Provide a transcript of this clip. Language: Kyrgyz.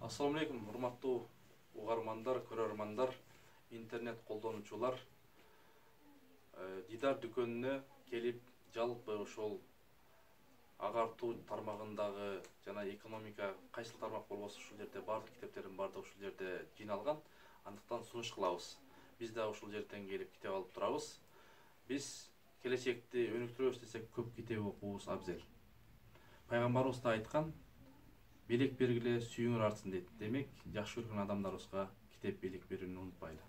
Assalamu alaikum, урматтуу угармандар, көрөрмандар, интернет колдонуучулар. Дидар дүкөнүнө келип, жалпы ошол агартуу тармагындагы жана экономика кайсыл тармак болбосо ушул жерде бардык китептердин бардыгы ушул жерде жыйналган. Андыктан сунуш кылабыз. Биз да ушул жерден келип китеп алып турабыз. Биз келечекти өнүктүрөбүз десек көп китеп окуубуз абзел. Пайгамбарыбыз да айткан: "Белек бергиле, сүйүңөр артсын" дейт. Демек, жакшы көргөн адамдарыбызга китеп белек берүүнү унутпайлы.